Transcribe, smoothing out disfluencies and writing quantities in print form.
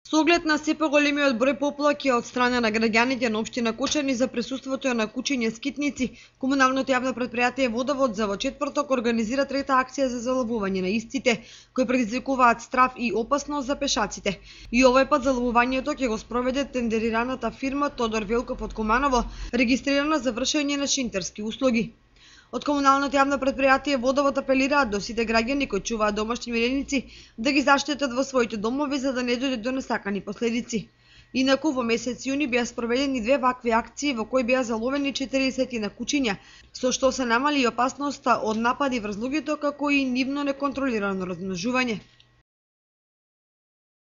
Со оглед на се поголемиот број поплаки од страна на граѓаните на општина Кочани за присуството на кучиње скитници, комуналното јавно претпријатие Водовод за во четврток организира трета акција за заловување на истите, кои предизвикуваат страв и опасност за пешаците. И овој пат заловувањето ќе го спроведе тендерираната фирма Тодор Велков од Куманово, регистрирана за вршење на шинтерски услуги. Од комуналното јавно претпријатие Водовод апелираат до сите граѓани кои чуваат домашни миреници да ги заштитат во своите домови за да не дојде до несакани последици. Инаку во месец јуни беа спроведени две вакви акции во кои беа заловени 40 на кучиња, со што се намали и опасноста од напади врз луѓето како и нивно неконтролирано размножување.